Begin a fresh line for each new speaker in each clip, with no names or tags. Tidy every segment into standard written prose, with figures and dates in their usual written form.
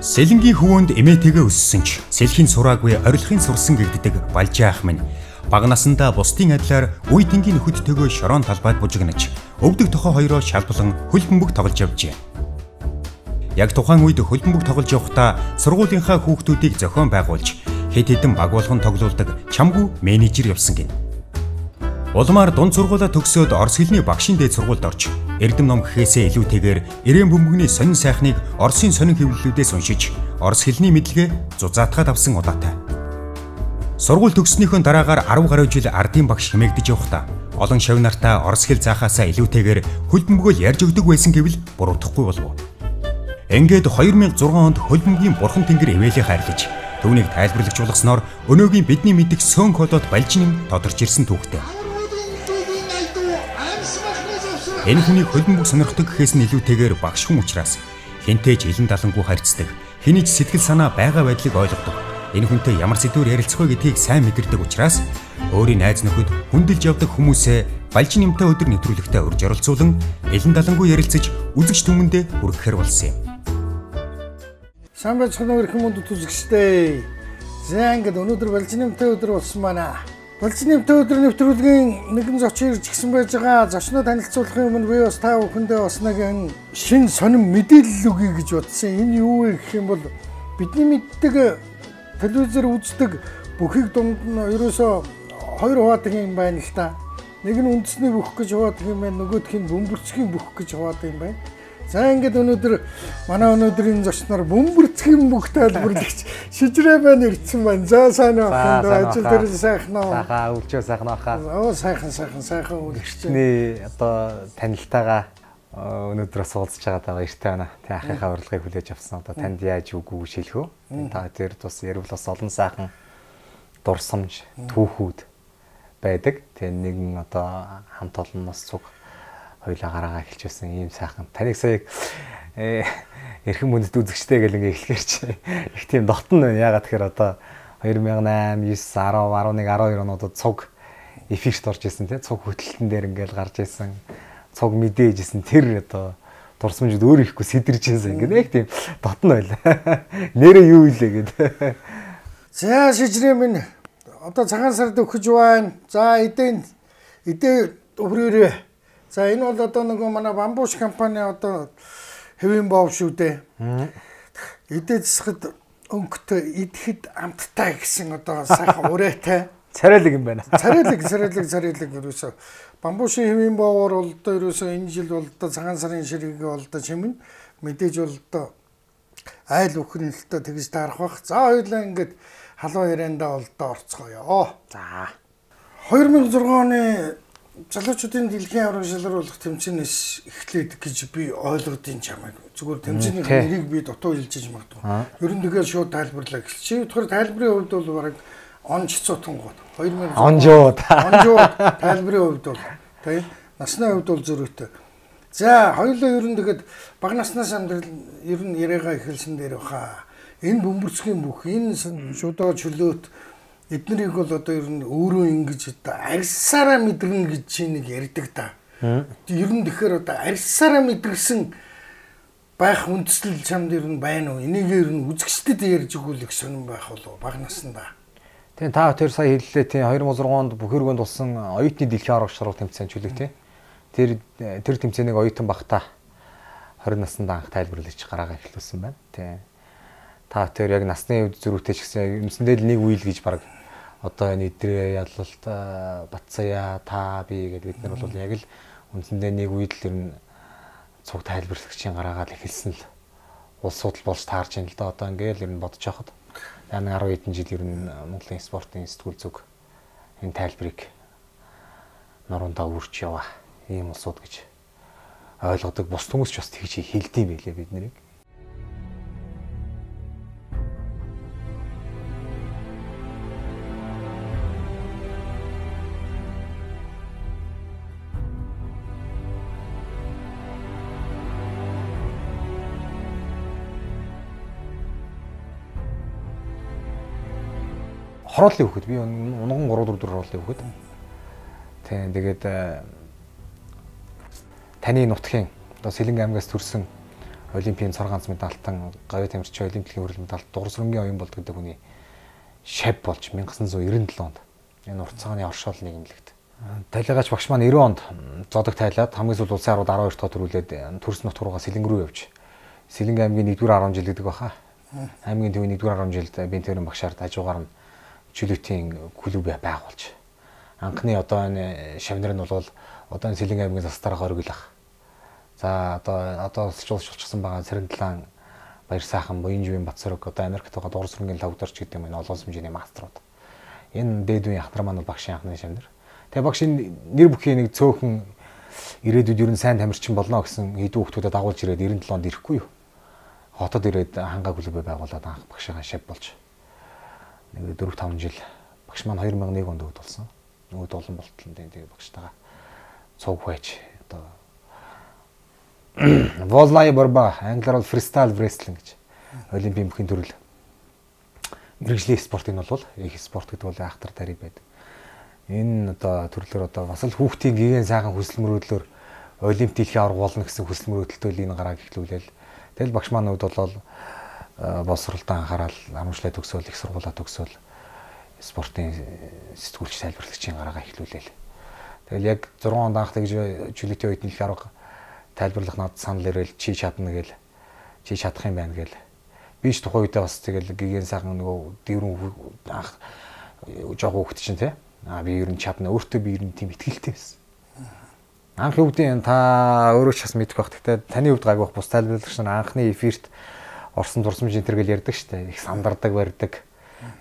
Сэлэнгийн хөвөнд эмээтэйгээ өссөн ч сэлхийн сураагүй орилохын сурсан гэгддэг Балжаах минь бага насандаа бусдын адилаар үе тэнгийн нөхөдтэйгөө шорон талбайд бужигнаж өвдөг тохоо хоёроо шалбалан хөл бөмбөг тоглож явжээ. Яг тухайн үед хөл бөмбөг тоглож явахдаа сургуулийнхаа хүүхдүүдийг зохион байгуулж хэд хэдэн баг болгон тоглуулдаг чамгүй менежер явсан гин. Улмаар дунд сургуулаа төгсөөд Орос хэлний багшийн дээд сургуульд орж эрдэм ном гэхээсээ илүүтэйгээр ирээн бөмбөгний сонин сайхныг Оросын сонин хэвлэлүүдээс уншиж Орос хэлний мэдлэгээ зузаатгаад авсан удаатай. Сургууль төгссөнийхөө дараагаар 10 гаруй жил ардын багш хэмээгдэж явахдаа олон шав нартаа Орос хэл заахаасаа илүүтэйгээр хөл бөмбөгөө ярьж өгдөг байсан гэвэл буруудахгүй болов. Ингээд 2006 онд хөл бөмбөгийн бурхан тэнгэр ивэлийг хайрлаж түүнийг тайлбарлагч болгосноор өнөөгийн бидний мэддэг сөөн колод Балжин тодорч ирсэн түүхтэй. Энэ хүний хөл бөмбөг сонирхдаг гэхээс нь илүүтэйгээр багш хүн учраас хинтээж илэн далангуу харьцдаг, хэний ч сэтгэл санаа байгаа байдлыг ойлгодог. Энэ хүнтэй ямар сэдвээр ярилцах вэ гэдгийг сайн мэдэрдэг учраас өөрийн найз нөхөд хүндэлж явдаг хүмүүсээ Балжин юмтай өдөр нэвтрүүлэгтээ урьж оролцуулан илэн далангуу ярилцаж үзэгч түмэндээ хүргэхээр болсон юм.
Сайн байцгаана өрх юмд үзэгчтэй. За ингээд өнөөдөр Балжин юмтай өдөр болсон байна. Балжин юмтай өдөр нэвтрүүлгийн нэгэн зочин ирж гисэн байж байгаа. Зочноо танилцуулахын өмнө би бас та бүхэндээ бас нэг шин сонин мэдээлэл өгье гэж бодсон. Энэ юу вэ гэх юм бол бидний мэддэг телевизээр үздэг бүхийг дунд нь ерөөсөө хоёр хуваадаг юм байна л та. Нэг нь үндэсний бүх гэж хуваадаг юм байна, нөгөөх нь бөмбөрцгийн бүх гэж хуваадаг юм байна. За ингээд өнөөдөр манай өнөөдрийн зочноор бөмбөрцгийн бүх тайлбарлагч шижрээ байна ирсэн байна. За сайн байна. Ажил дээр сайхан аа.
Сайхан өвчөө сайхан ахаа.
Оо сайхан үлгэрч.
Миний одоо танилтайгаа өнөөдөр суулзж байгаа баяртай байна. Тэ ахыхаа урилгыг хүлээж авсан. Одоо танд яаж үгүй шилхүү. Та тэр тус ярил бас олон сайхан дурсамж түүхүүд байдаг. Тэ нэгэн одоо хамт олонноос цуг хоёлаа гараагаа эхэлж байсан ийм сайхан. Таныг сая эрхэм мөндөд үзэгчтэй гэл ингээ эхлэхэр чи их тийм дотн байна. Ягаад тэгэхээр одоо 2008, 9, 10, 11, 12 онуудад цуг эфирт орж исэн тий. Цуг хөтөлтөн дээр ингээл гарч исэн. Цуг мэдээж исэн. Тэр одоо дурсамжууд өөр ихгүй сэтэрж исэн. Ингээ яг тийм дотн байлаа. Нэрээ юу илээ гэдэг.
За шижрээ минь одоо цагаан сард өгч байна. За эдээ өврөөрөө. За энэ бол одоо нөгөө манай бамбууш компани одоо хэвийн боов шүү дээ. Эдээ засахад өнгөтэй идэхэд амттай гэсэн одоо сайхан урайтай.
Царайлаг юм байна.
Царайлаг ерөөсө бамбуушийн хэвийн боовоор бол одоо ерөөсө энэ жил бол одоо цагаан сарын ширхэг бол одоо чимэн мэдээж бол одоо айл бүхэн л одоо тэгж таарах бах. За хоёулаа ингээд халуун яриандаа бол одоо орцгоё. За 2006 оны залуучуудын дэлхийн авраг шалгаруулах тэмцээнээс эхлээд гэж би ойлгодгийн чамайг. Зүгээр тэмцээний нэрийг би дутуу хэлж магадгүй. Ер нь тэгээд шууд тайлбарлаа гэлчээ. Тэгэхээр тайлбарын хувьд бол бараг онж цутан гот. 2000 онжууд тайлбарын хувьд бол тийм насны хувьд бол зөрүүтэй. За хоёулаа ер нь тэгээд бага наснаас амьдрал ер нь яриагаа эхэлсэн дээр баха. Энэ бөмбөрцгийн бүх энэ шудаа чөлөөт эднэрийг бол одоо ер нь өөрөө ингэж одоо арьсаараа мэдэрнэ гэж чи нэг ярьдаг та. Ер нь тэгэхээр одоо арьсаараа мэдэрсэн байх үндэслэл чамд ер нь байна уу? Энийг ер нь үзэгчдэд ярьж өгүүлэх сонирн байх болов бага наснда.
Тийм та тэр сая хэллээ тийм 2006 онд Бөхөргөнд болсон оюутны дэлхийн аврагч шалралт тэмцээн чөлөг тийм. Тэр тэмцээнийг оюутан багтаа 20 наснда анх тайлбарлагч гараагаа эхлүүлсэн байна. Тийм. Та тэр яг насны үед зөрүүтэй ч гэсэн юмсэндээ л нэг үйл гэж баг одоо энэ идрээ ялалт Батцая та би гэдэг бид нар бол яг л үндсэндээ нэг үед л ер нь цуг тайлбарлагчийн гараагаа л эхэлсэн л улс судал болж таарч ин л да одоо ингээл ер нь бодож байхад яг 10 хэдэн жил ер нь Монголын спортын сэтгүүл зүг энэ тайлбарыг нуруундаа үрж яваа ийм улсууд гэж ойлгодог бус хүмүүс ч бас тэгж хэлдэм байлээ бид нарыг. Хорооллын хөхөд би унган 3-4 хорооллын хөхөд. Тийм тэгээд таны нутгийн одоо Сэлэнг аймгаас төрсэн Олимпийн цор ганц медальтан говь тамирчин олимпийн хөрөл медалт дугуйсрынгийн оюун болд гэдэг хүний шав болж 1997 онд энэ урт цагааны оршоол нийгэмлэгт. Тайлгаач багш маань 90 онд зодог тайлаад хамгийн сүүл улсын харууд 12 дахь төрүүлээд төрс нутг руугаа Сэлэнг рүү явж Сэлэнг аймгийн 1-р 10 жил гэдэг баха. Аймгийн төвийн 1-р 10 жилд бинтэрэн багшаар хажуугаар нь чөлөөтийн клуб байгуулж анхны одоо энэ шавнар нь бол одоо энэ Сэлэнг аймгийн застараа хориглох. За одоо шулчсан байгаа Цэрэндлан Баяр сайхан Буянживын Батсөрөг одоо Америкт байгаа дуурсрынгийн лавдарч гэдэг юм энэ олон хэмжээний мастерууд. Энэ дээдвийн ахнар маань бол багшийн анхны шавнар. Тэгээ багшийн нэр бүхий нэг цөөхөн ирээдүйд ер нь сайн тамирчин болно гэсэн хэдэн хүүхдүүдэд дагуулж ирээд 97 онд ирэхгүй юу. Хотод ирээд хангаа клуб байгуулад анх багшийн шав болж нэг 4-5 жил багш маань 2001 онд өвд болсон. Өвд олон болтол тэгээ багштайгаа цуг байж одоо Воллай борба англиар бол фристайл wrestling гэж олимпийн бүхий төрөл мэрэгжлийн спортын бол их спорт гэдэг бол ахтар тариг байдаг. Энэ одоо төрлөөр одоо бас л хүүхдийн гигэн сайхан хүсэл мөрөөдлөөр олимпиад хэлхий авраг болно гэсэн хүсэл мөрөөдөлтөө энэ гарааг эхлүүлээл. Тэгэл багш маань хувьд бол боловсролтой анхаарал амжилттай төгсөөл их сургуулаа төгсөөл спортын сэтгүүлч тайлбарлагчийн гараага эхлүүлээл. Тэгэл яг 6 онд анх тэгж чөлөөтийн үед хэлхий авраг тайлбарлах надад санал ирээл чи чадна гээл чи чадах юм байна гээл би ч тухайн үедээ бас тэгэл гигэн сайхан нөгөө дэрүн анх жоох хүүхэд чинь те би ер нь чадна өөртөө би ер нь тийм итгэлтэй байсан. Анхны үедээ та өөрөө ч бас мэдэх байх. Гэхдээ таны хувьд гайгүй бус тайлбарлагч нар анхны эфирт орсон дурсамж энэ төр гэл ярьдаг штэ их сандардаг барьдаг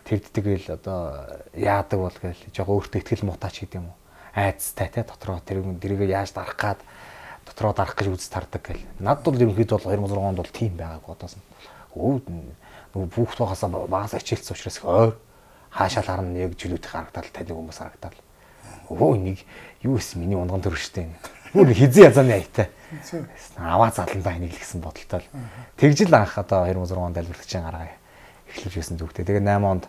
тэрддэг гэл одоо яадаг бол гээл жоох өөртөө итгэл мутаач гэдэг юм уу айцтай те дотроо тэрийг яаж дарах гад дотроо дарах гэж үз тардаг гэл. Надд бол ерөнхийдөө 2006 онд бол тийм байгааг бодоос нь. Нөгөө хүүхд байхасаа багаас ачаалцсан учраас ойр хаашаал харна яг жилүүд харагдал таны хүмүүс харагдал. Өө нэг юу эс миний унган төр штэ. Бүр хизээ язааны аятай. Аваа заландаа энийг л гэсэн бодолтой л. Тэгжил анх одоо 2006 онд альбертчин гаргаа эхлүүлж байсан зүгтээ. Тэгээ 8 онд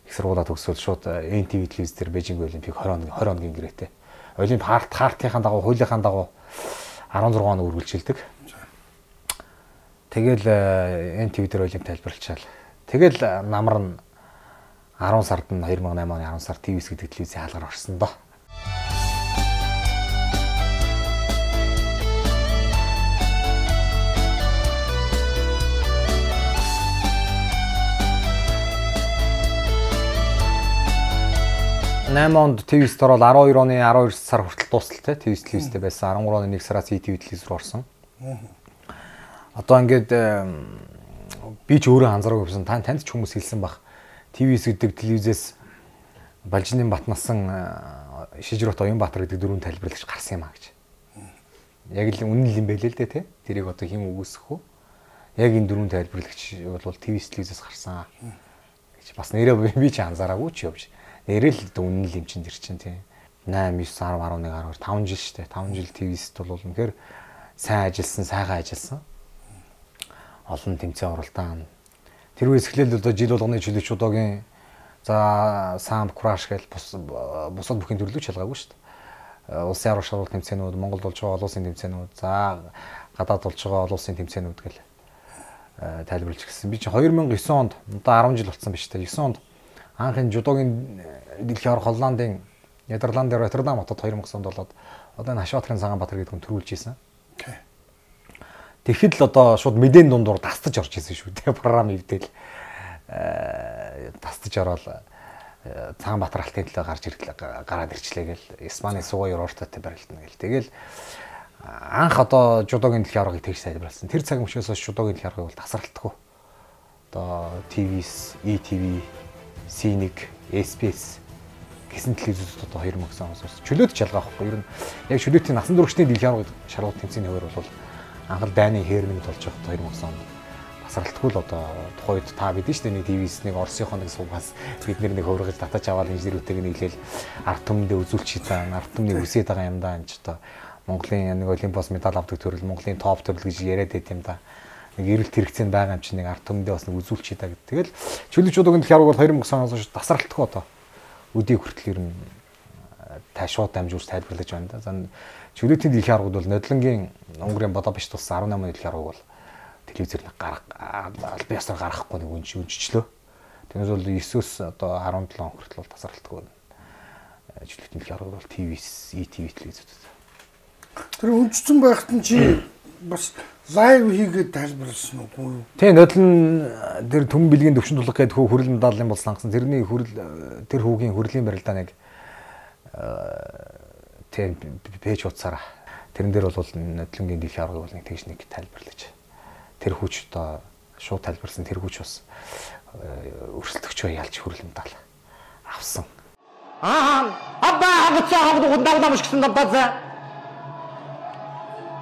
их сургуулаа төгсөөл шууд NTV телевиз дээр Бээжинг Олимпик 20 оногийн гэрээтэй. Олимп хартын дагуу хуулийнхаа дагуу 16 он үргэлжилдэг. Тэгэл NTV дээр Олимп тайлбарлачаал. Тэгэл намар нь 10 сард нь 2008 оны 10 сард ТВС гэдэг телевизийн хаалгаар орсон доо. Наймонд ТВС орол 12 оны 12 сар хүртэл дуустал те ТВС телевизтэй байсан 13 оны 1 сараас ТV телевиз рүү орсон. Одоо ингээд би ч өөрөө анзаараагүй байсан. Танд ч хүмүүс хэлсэн баг. ТВС гэдэг телевизээс Балжины Батнасан Шижрот Оюнбаатар гэдэг дөрвөн тайлбарлагч гарсан юм а гэж. Яг л үнэн л юм байлээ л дээ те. Тэрийг одоо хэм үгүйсэх үү? Яг энэ дөрвөн тайлбарлагч бол ТВС телевизээс гарсан гэж бас нэрээ би ч анзаараагүй ч явж. Нэрэл үнэн л юм чин тэр чин тийм 8 9 10 11 12 5 жил штэ 5 жил ТВСт бол үнэхээр сайн ажилласан сайхан ажилласан олон тэмцээн оролдоон тэр үеэс эхлээл одоо жил болгоны чөлөөчүүдийн за самп краш гэл бусад бүхэн төрлөж шалгаагүй штэ улсын арга шалгалт тэмцээнүүд Монголд болж байгаа олон улсын тэмцээнүүд за гадаад болж байгаа олон улсын тэмцээнүүд гэл тайлбарлаж гисэн би чи 2009 онд одоо 10 жил болсон биз дээ 9 онд анхын жудогийн дэлхийн авраг Холландын Нидерландын Роттердам хотод 2000 онд болоод одоо энэ Хашбатрын Цагаанбаатар гэдэг хүн төрүүлж ийсэн. Тэгэхэд л одоо шууд мэдэн дундуур тастаж орж ийсэн шүү дээ програм ивдэл тастаж ороод Цагаанбаатар алтын төлөө гарч гараад ирчлээ гэл Испани сугой орортотой барилдана гэл. Тэгэл анх одоо жудогийн дэлхийн аврагыг тэгж тайлбарласан. Тэр цаг мөчөөс жудогийн дэлхийн аврагыг бол тасралтгүй. Одоо ТВС, ETV C1, SPS гэсэн телевизүүд одоо 2009 оноос чөлөөт шалгаа авахгүй. Ер нь яг чөлөөтийн насан туршийн дэлхийн аврагын шалгуулт тэмцээний хувьд бол анхал дайны Херминд болж байгаа 2009 онд тасралтгүй л одоо тухайн үед та бид нь шүү дээ нэг ТВС нэг Оросынхоо нэг суугаас бид нэг хөврөгж татаж аваад инженерүүтэйг нэглээл ард түмэндээ үзүүлчих та ард түмний үсээд байгаа юм даа энэ ч одоо Монголын нэг Олимпиас медаль авдаг төрөл Монголын топ төрөл гэж яриад байт юм да. Нэг эрэлт хэрэгцээнд байгаа юм чинь нэг ард түмэндээ бас нэг үзүүлчих та гэдэг. Тэгэл чөлөөчүүдийн дэлхийн авраг бол 2009 оноос тасралтгүй одоо өдий хүртэл ер нь ташууд дамжуулж тайлбарлаж байна да. За чөлөөтийн дэлхийн аврагууд бол Нодлонгийн Унгарын Бодапешт тус 18 оны дэлхийн авраг бол телевизээр албан ёсоор гаргахгүй нэг үнжчлөө. Тэгээс бол 9-өөс одоо 17 он хүртэл бол тасралтгүй. Жилийн дэлхийн арга бол ТV-с, ETV телевизүүд.
Тэр үнжсэн байхад нь чи бас лайв хийгээд тайлбарласан уу?
Тийм нодлон тэр төмөн бэлгийн төвшин тулах гэдэг хүрэл медалийн бол сонгосон. Тэрний тэр хүүгийн хүрлийн барилдаа нэг тийм пэйж утсаараа тэрэн дээр бол нодлонгийн дэлхийн аргыг бол нэг тэгш нэг тайлбарлаж. Тэр хүч одоо шууд тайлбарласан тэр хүч бас өрсөлдөгчөө ялж хүрэл медаль авсан. Абба хавцаа хавдагдаж гисэн дабазаа.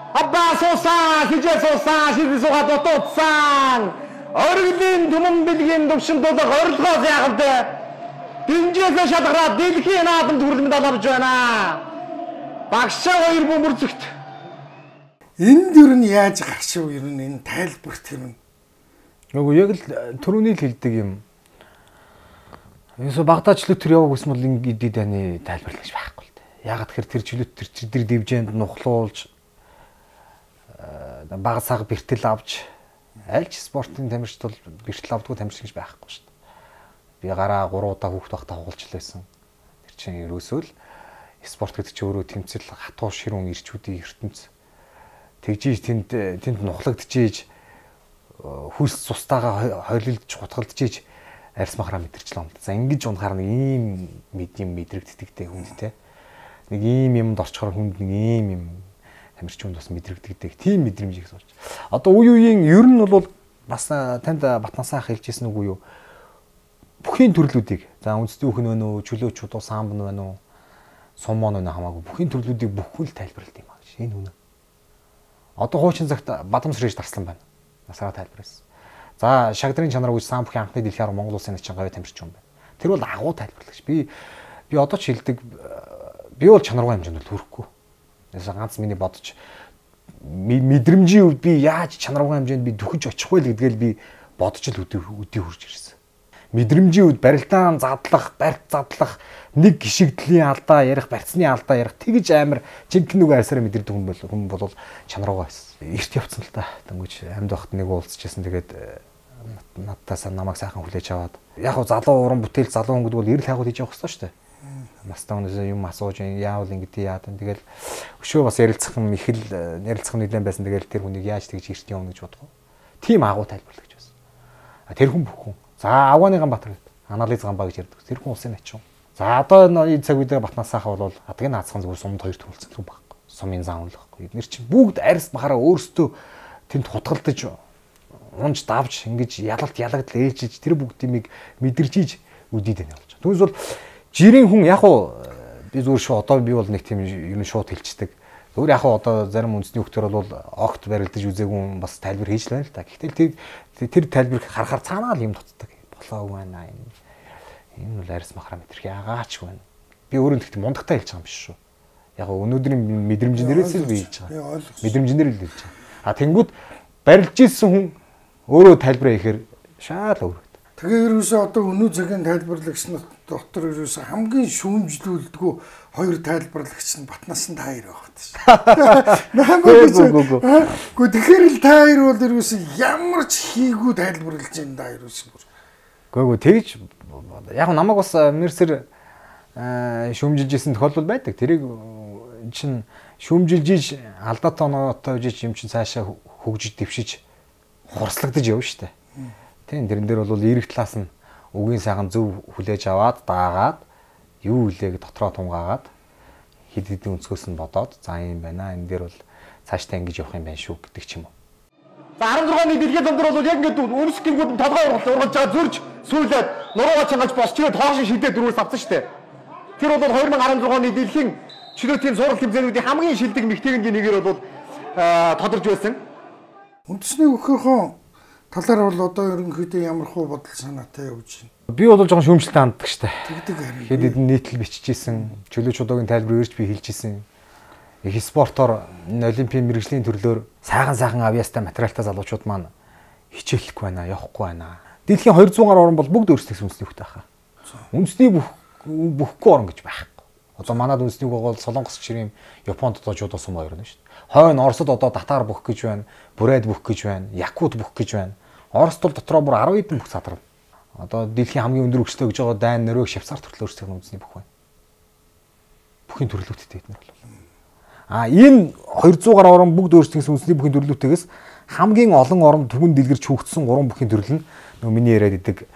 Абба суусан, хижээ суусан, ширхэг суугаад дутуудсан. Оргилын төмөн бэлгийн төвшин тулах орилгоос яахад динжээс шалгараад дэлхийн наадамд хүрэл медаль авч байна. Багшаа хоёр бөмбөрцөгт.
Энэ дөр нь яаж гаршив ер нь энэ тайлбарт юм.
Нөгөө яг л түрүүний л хэлдэг юм. Юусо багтаач лүтер яваг гэсэн бол ингээд даны тайлбарлаж байхгүй л дээ. Ягаад тэгэхээр тэр жилүүд тэр дивжээнд нухлуулж бага цаг бэртэл авч аль ч спортын тамирчид бол бэртэл авдаггүй тамирч гэж байхгүй шүү дээ. Би гараа 3 удаа хүүхд байхдаа хугалж лээсэн. Тэр чинь ерөөсөө л спорт гэдэг чинь өөрөө тэмцэл хатуу ширүүн ирчүүдийн ертөнц. Тэгжиж тэнд нухлагдчихэж хөлс цустайгаа хойлолж гутгалдчихэж арьс махраа мэдэрчлээ юм. За ингэж унахаар нэг ийм мэдрэгддэг хүнд те. Нэг ийм юмд орчхоор хүнд нэг ийм юм тамирчунд бас мэдрэгддэг. Тийм мэдрэмжийг суулж. Одоо үеийн ер нь бол бас танд Батнасаа хэлжсэн үгүй юу? Бүхний төрлүүдийг за үндэсний үхэн байна уу, чөлөө чудуу самбан байна уу, суммон байна хамаагүй бүхний төрлүүдийг бүхэл тайлбарлалт юм аа гэж. Энэ үнэ. Одоо хуучин цагт Бадамсрэж дарслан байна. Насаараа тайлбарласан. За шагдрын чанар гэж сам бүхий анхны дэлхийн арга Монгол улсын начин говь тамирчин юм байна. Тэр бол агуу тайлбарлагч. Би одоо ч хэлдэг би бол чанаргүй хэмжээнд хүрэхгүй. Яса ганц миний бодож мэдрэмжийн үед би яаж чанаргүй хэмжээнд би дөхөж очих вэ гэдгээл би бодож л өдөө хурж ирсэн. Мэдрэмжийн үед барилдаан задлах, барьт задлах, нэг гişигдлийн алдаа ярих, барьцны алдаа ярих тэгж амар жинхэнэ үг айсараа мэдэрдэг хүн бол чанаргүй байсан. Эрт явцсан л та. Тэнгүүч амьд байхад нэг уулзчихсан тэгээд надтаас намайг сайхан хүлээж аваад яг хуу залуу уран бүтээл залуу хүн гэдэг бол эрэл хайгуул хийж явах хэрэгтэй шүү дээ. Настаа өнөөсөө юм асууж яавал ингэдэй яадан тэгэл өшөө бас ярилцах юм их л ярилцах нэлээд байсан тэгэл тэр хүнийг яаж тэгж эрт явна гэж бодох. Тийм агуу тайлбарлагч байсан. Тэр хүн бүх хүн. За Авгааны Ганбаатар гэдэг анализ Ганбаа гэж ярьдаг. Тэр хүн улсын начин. За одоо энэ цаг үедээ Батнасаахаа бол адгийн наацхан зүгээр сумд хоёр төрүүлсэн юм байхгүй. Сумын зам унлахгүй. Эднэр чинь бүгд арьс махаараа өөрсдөө тэнд хутгалдаж унж давж ингэж ялагдал ээлжиж тэр бүгдийг мэдэрчиж үдийд байна болж. Түүнээс бол жирийн хүн яг уу би зүгээр шүү одоо би бол нэг тийм ер нь шууд хэлцдэг. Зүгээр яг уу одоо зарим үндэсний хөлтөр бол огт барилдаж үзээгүй бас тайлбар хийж л байна л та. Гэхдээ тэр тайлбарыг харахаар цаанаа л юм дутдаг. Болоогүй байна энэ. Энэ бол арьс махраа мэдэрх яагаач байна. Би өөрөө тэгт мундагтай хэлж байгаа юм биш шүү. Яг өнөөдрийн мэдрэмжнэрээс л би хэлж байгаа. Мэдрэмжнэр л хэлж байгаа. А тэнгууд барилж исэн хүн өөрөө тайлбараа ихээр шаал өөр.
Тэгээ ерөөсөө одоо өнөө цагийн тайлбарлагч нар дотор ерөөсөө хамгийн шүүмжлүүлдэггүй хоёр тайлбарлагч нь Батнасан та хоёр байх гэсэн. Гэхдээ тэгэхээр л та хоёр бол ерөөсөө ямар ч хийгүү тайлбарлаж байна да ерөөсөө.
Гэхдээ тэгж яг намайг бас мерсэр шүүмжилжсэн тохиолдол байдаг. Тэрийг чинь шүүмжилжиж алдаатай оноотой үжиж юм чинь цаашаа хөгжиж дэвшиж хурслагдаж явна шүү дээ. Тийм тэрэн дээр бол эрэг талаас нь үгийн сайхан зөв хүлээж аваад даагаад юу үлээг дотроо тунгаагаад хэд хэдэн өнцгөөс нь бодоод за юм байна. Энэ дээр бол цаашдаа ингэж явах юм байна шүү гэдэг ч юм уу. За 16-ны дэлхийн зам дээр бол яг ингэж үнэс гингүүд нь толгой ургалж байгаа зөрж сүүлээд нуруугаа чангаж босчгээд хоошин шилдээ дөрвөөс авсан шүү дээ. Тэр бол 2016-ны дэлхийн чөлөөтийн сургалт хэмжээнүүдийн хамгийн шилдэг мэгтэйгийн нэгээр бол тодорж байсан.
Үндэсний хөхөөрхөн талаар бол одоо ерөнхийдөө ямар хуу бодол санаатай явж байна.
Би бол жоохон шүүмжлэлтэй ханддаг штэ.
Тэгдэг харин.
Хэд хэдэн нийтлэл биччихсэн, чөлөө чудуугийн тайлбар өрж би хэлчихсэн. Их спортоор олимпийн мэрэгжлийн төрлөөр сайхан авьяастай материалтай залуучууд маань хичээлэхгүй байна, явахгүй байна. Дэлхийн 200 гаруй орн бол бүгд өөрсдөө үндэсний хөхтэй хаа. Үндэсний бүхгүй орн гэж байхгүй. Одоо манад үндэсний үг бол Солонгос гişрийн Японд одоо жудо сумо хоёр нь шүү дээ. Хойно Оросд одоо татар бүх гэж байна, Бурайд бүх гэж байна, Якут бүх гэж байна. Оросд бол дотроо бүр 10 хэдэн бүх задарна. Одоо дэлхийн хамгийн өндөр өгчтэй гэж байгаа Дайн, Норвег, Швейцар төрөл өөрсдийн үндэсний бүх байна. Бүхийн төрлөөттэй эднэр бол. Энэ 200 гаруй орн бүгд өөрсдийн үндэсний бүхийн төрлөөтэйгээс хамгийн олон орн түгэн дэлгэрч хөгжсөн 3 бүхийн төрөл нь нөгөө миний яриад идэг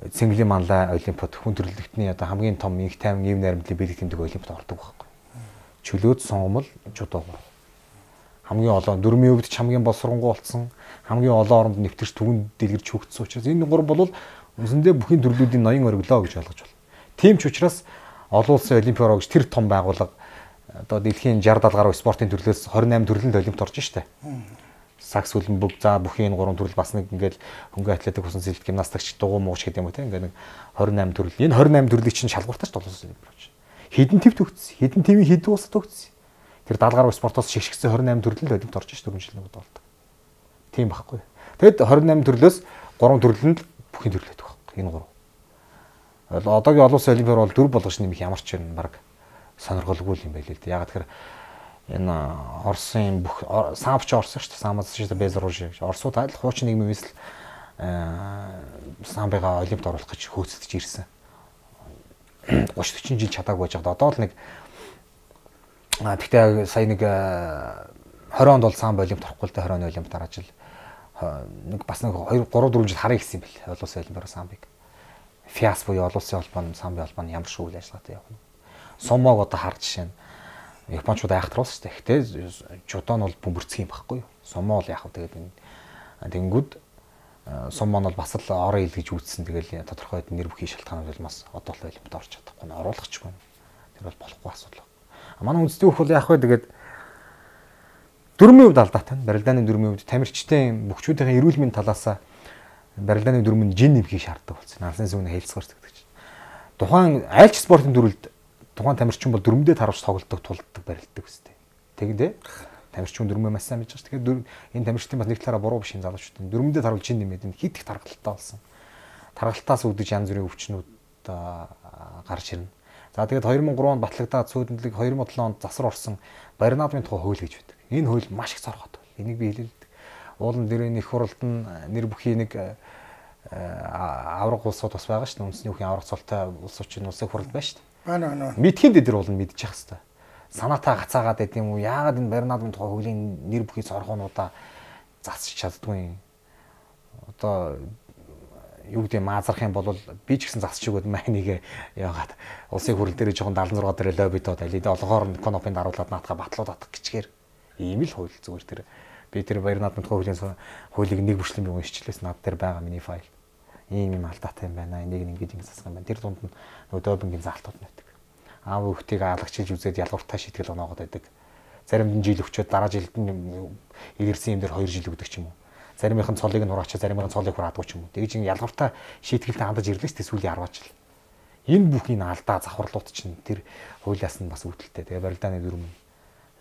Цэнгэлийн манлай олимпиад хүн төрөлхтний одоо хамгийн том их тайван ив найрамдлын бэлэг тэмдэг олимпиад ордог байхгүй. Чөлөөт сонгомл жудоо. Хамгийн олон дөрмийн өвд ч хамгийн боловсронгуй болсон, хамгийн олон оронд нэвтэрч түгэн дэлгэрч хөгжсөн учраас энэ гур бол үсэндээ бүхийн төрлүүдийн ноён ориглоо гэж ойлгож байна. Тийм ч учраас олон улсын олимпиад гэж тэр том байгууллага одоо дэлхийн 60-70 гаруй спортын төрлөөс 28 төрлөнд олимпиад орж штэ. Сакс хөлбөмбөг за бүхийн 3 төрөл бас нэг ингээл хөнгөн атлетик усан сэлт гимнастикч дугуй мууч гэдэг юм уу те ингээд нэг 28 төрөл. Энэ 28 төрлийг чинь шалгууртаж толгоос олимпиад. Хэдэн твт өгсөн. Хэдэн твийн хэдэн усад өгсөн. Тэр 70 гаруй спортоос шигшгсэн 28 төрөл л олимпиад орж ш 4 жил нэг болдог. Тийм байхгүй. Тэгэд 28 төрлөөс 3 төрлөнд бүхийн төрлөөд байхгүй. Энэ 3. Одоогийн олон улсын олимпиад бол 4 болгож нэмэх ямар ч юм баг сонирхолгүй юм байл л дээ. Ягаад тэгэхээр энэ Оросын бүх самбч Орос шүү дээ. Самбас шүү дээ Безруж. Оросууд аль хуучин нийгмээс л самбыга олимпиад оруулах гэж хөөцөлдөж ирсэн. 30-40 жил чадаагүй байж байгаа. Одоо л нэг тэгтээ сая нэг 20 онд бол самб олимпиад орохгүй л дээ. 20 оны олимпиад дараа жил нэг бас нэг 2 3 4 жил харъя гэсэн юм бэл. Олон улсын олимпиад самбыг. ФИАС буюу олон улсын холбооны самбын холбооны ямар шиг үйл ажиллагаатай явна. Сомог одоо харж жишээ нь Япончууд айхтруулсан шүү дээ. Гэтэ жудо нь бол бөмбөрцөх юм байхгүй юу? Сомо л яах вэ тэгээд энэ тэнгүүд сомо нь бол бас л орон ил гэж үүссэн. Тэгэл тодорхой нэр бүхий шалтгаанууд бол бас одоо л олимпиад орж чадахгүй нь оруулахчгүй. Тэр бол болохгүй асуудал. Манай үндэсний хөх бол яах вэ тэгээд дөрмийн хувьд алдаатай. Барилдааны дөрмийн хувьд тамирчдын бүхчүүдийн эрүүл мэндийн талаас барилдааны дөрмөнд жин нэмхийг шаарддаг болсон. Алсын сүгний хэлцгэрдэг гэж. Тухайн айлч спортын төрөлд тухайн тамирчин бол дөрмөдөө таравч тоглолтог тулддаг барилддаг үстэй. Тэгэдэ тамирчин дөрмөө маш сайн мэдж байгаа. Тэгэхээр энэ тамирчдын бас нэг талаараа буруу биш юм залуучууд. Дөрмөдөө таруулж чин нэмээд хит их тархалттай болсон. Тархалтаас үүдэж янз бүрийн өвчнүүд гарч ирнэ. За тэгээд 2003 онд батлагдаад сүйдэнлэг 2007 онд засвар орсон Баринадмын тухай хууль гэж байдаг. Энэ хууль маш их зорготой. Энийг би хэлэлдэг. Уулан дээрээ их хуралд нь нэр бүхий нэг авраг улсууд бас байгаа шүү дээ. Үндэсний хүүхийн авраг цолтой улсуудын улсын хурал байна шүү дээ.
Байна.
Мэдхийн дээр бол мэдчих хэвээр. Санаатаа гацаагаад байд юм уу? Яагаад энэ Баринадмын тухай хуулийн нэр бүхий зоргоонуудаа засч чаддгүй юм? Одоо юу гэдэг маазрах юм бол би ч гэсэн засч өгөөд майныг яагаад улсын хурал дээр жоохон 76 дээр лоббитод алид олгоор нь конопын даруулаад наатаха батлууд атах гэчгээр ийм л хууль зүгээр тэр би тэр Баринадмын тухай хуулийг нэг бүрчлэн би уншчихлээс над дээр байгаа миний файл. Ийм юм алдаатай юм байна. Энийг ингэж засах юм байна. Тэр дунд нь нөгөө допингийн заалтууд байдаг. Аав хүүхдийг алагчилж үзээд ялгууртаа шийтгэл оноогод байдаг. Заримд нь жил өчөөд дараа жилд нь ирсэн юм дээр 2 жил өгдөг ч юм уу. Заримийнх нь цолыг нь хураачаа, заримийнх нь цолыг хураадаггүй ч юм уу. Тэгж ин ялгууртаа шийтгэлтэй хандаж ирлээ ч сүүлийн 10 жил. Энэ бүхний алдаа завхарлууд чинь тэр хуулиас нь бас үүдэлтэй. Тэгээ барилдааны дүрм.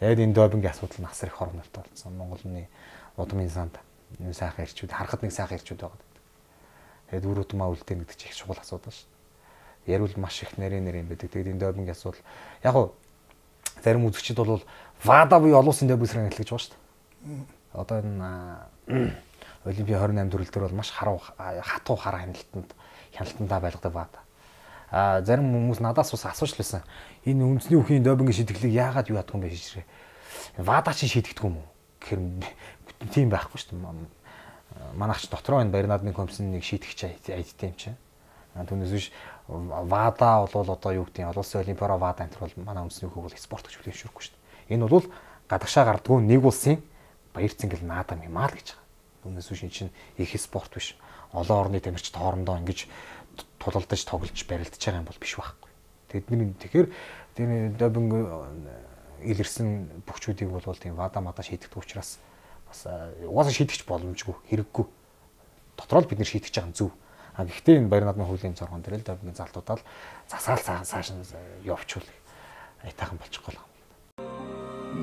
Тэгээд энэ допингийн асуудал нь асар их хорнолтой болсон. Монголны удмын санд нэг сайхан ирчүүд, харахад нэг сайхан ирчүүд байгаа. Тэгээд үр удмаа үлдээн гэдэг чинь их чухал асуудал шүү дээ. Ярил маш их нарийн юм байдаг. Тэгээд энэ допингийн асуудал яг уу зарим үзэгчид бол ВАДА буюу олон улсын допинг хэлж байгаа шүү дээ. Одоо энэ Олимпийн 28 төрөл дээр бол маш хатуу хараа хяналтандаа байлгадаг ВАДА. Зарим хүмүүс надаас бас асууж лээсэн. Энэ үндэсний хүүхийн допингийн шийдвэрлэлийг яагаад юу яддаг юм бэ шийдвэрээ. ВАДА чинь шийдэгдэг юм уу? Гэхээр тийм байхгүй шүү дээ. Манайч дотроо энэ Баринадмын комиссийн нэг шийдэгч айдтай юм чинь. Түүнээс биш ВАДА бол одоо юу гэдэг нь олон улсын олимпиара ВАДА энэ бол манай үндэсний хүүхийг бол спорт гэж хүлээн зөвшөөрөхгүй шүү дээ. Энэ бол гадагшаа гардгүй нэг улсын баяр цэнгэл наадам юм аа л гэж байгаа. Түүнээс биш энэ чинь их спорт биш. Олон орны тамирчид хоорондоо ингэж тулалдаж тоглож барилдаж байгаа юм бол биш байхгүй. Тэгэхээр тэр допинг илэрсэн бүхчүүдийг бол тийм ВАДА шийдэгдэх учраас бас угаасаа шийдэгч боломжгүй хэрэггүй. Дотроо л бид нэр шийдэж байгаа зүв. Гэхдээ энэ Баринадмын хуулийн зоргон дээр л допингийн залтуудаа л засаал цааш нь явуучвал айтайхан болчихгүй л юм.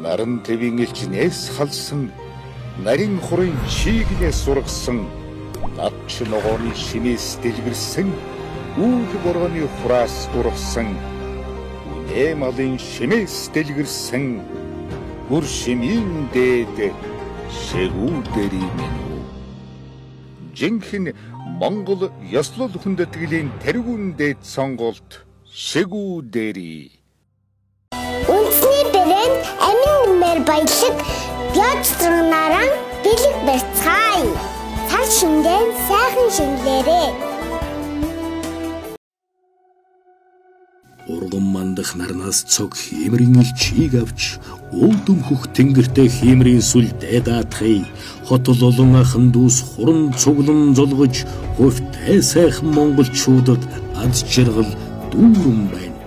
Наран твийн элчнээс халсан нарийн хурын чиглээс сургасан надч ногооны шинээс дэлгэрсэн үүх борооны хураас ургасан эмалын шимээс дэлгэрсэн бүр шимийн дээд шигүүдэрийн минь. Жинхэнэ Монгол ёслол хүндэтгэлийн тэргүүн дээд сонголт шигүүдэрий.
Үндэсний брэнд амин нэмэр баялаг бяцтрагнараа бэлэг барьцгаая. Цар шингэн сайхан шингэлээрээ.
Урган мандах нарнаас цог хиймрийн илчийг авч уулдам хөх тэнгэртэй хиймрийн сүл дайдаатхыг хотол олон ахан дүүс хуран цуглан золгож хувьтай сайхан монголчуудад аз жаргал дүүрэн байна.